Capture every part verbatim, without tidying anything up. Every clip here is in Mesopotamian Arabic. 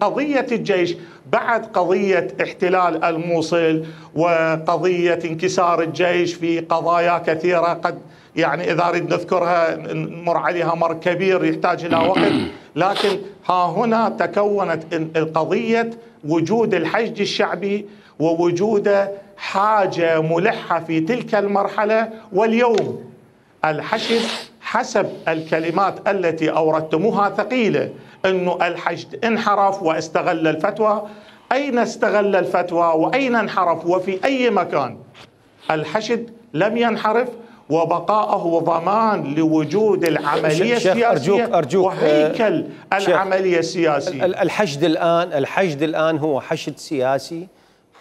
قضية الجيش بعد قضية احتلال الموصل وقضية انكسار الجيش في قضايا كثيرة قد يعني إذا أريد نذكرها نمر عليها مر كبير يحتاج إلى وقت، لكن ها هنا تكونت قضية وجود الحشد الشعبي ووجود حاجة ملحة في تلك المرحلة. واليوم الحشد حسب الكلمات التي أوردتموها ثقيلة، أنه الحشد انحرف واستغل الفتوى. أين استغل الفتوى وأين انحرف وفي أي مكان؟ الحشد لم ينحرف، وبقاءه ضمان لوجود العملية السياسية أرجوك أرجوك وهيكل العملية السياسية. الحشد الآن الحشد الآن هو حشد سياسي،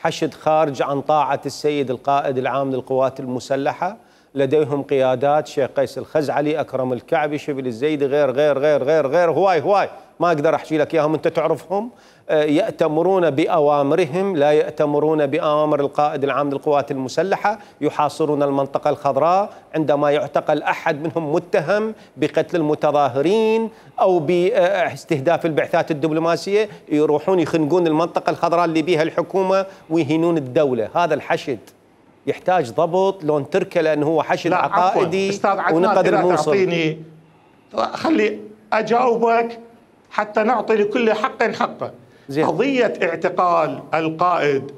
حشد خارج عن طاعة السيد القائد العام للقوات المسلحة. لديهم قيادات، شيخ قيس الخزعلي، أكرم الكعبي، شبل الزيدي، غير غير غير غير غير هواي هواي ما أقدر أحكي لك إياهم، أنت تعرفهم. يأتمرون بأوامرهم، لا يأتمرون بأوامر القائد العام للقوات المسلحة. يحاصرون المنطقة الخضراء عندما يعتقل أحد منهم متهم بقتل المتظاهرين أو باستهداف البعثات الدبلوماسية، يروحون يخنقون المنطقة الخضراء اللي بيها الحكومة ويهينون الدولة. هذا الحشد يحتاج ضبط لون تركه، لأنه هو حشد عقائدي ونقد الموصل. تعطيني خلي أجاوبك حتى نعطي لكل حق حقه. زي. قضية اعتقال القائد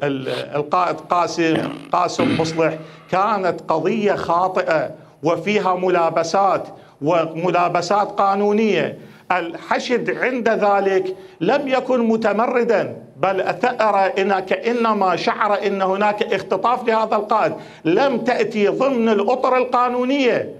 القائد قاسم قاسم مصلح كانت قضية خاطئة وفيها ملابسات وملابسات قانونية. الحشد عند ذلك لم يكن متمردا، بل ثأر إن كأنما شعر إن هناك اختطاف لهذا القائد، لم تأتي ضمن الأطر القانونية.